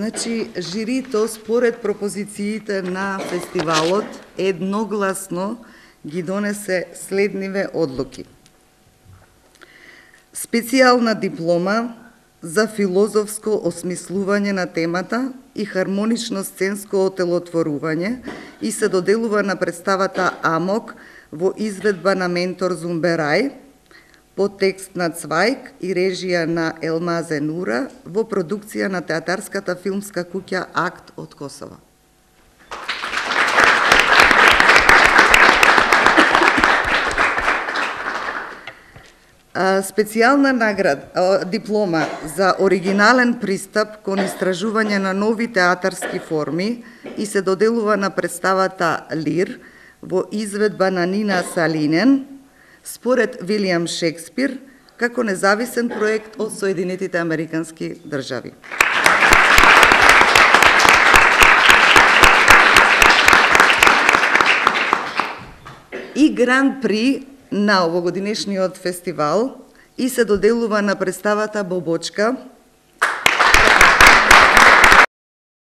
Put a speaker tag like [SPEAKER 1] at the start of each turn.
[SPEAKER 1] Значи, жирито според пропозициите на фестивалот едногласно ги донесе следниве одлуки. Специјална диплома за филозофско осмислување на темата и хармонично сценско отелотворување и се доделува на представата Амок во изведба на ментор Зумберај, по текст на Цвајк и режија на Елмазе Нура во продукција на театарската филмска куќа Акт од Косово. Специјална диплома за оригинален пристап кон истражување на нови театарски форми и се доделува на представата Лир во изведба на Нина Салинен според Вилијам Шекспир како независен проект од Соединетите Американски држави. И Гран При на овогодинешниот фестивал и се доделува на представата Бобочка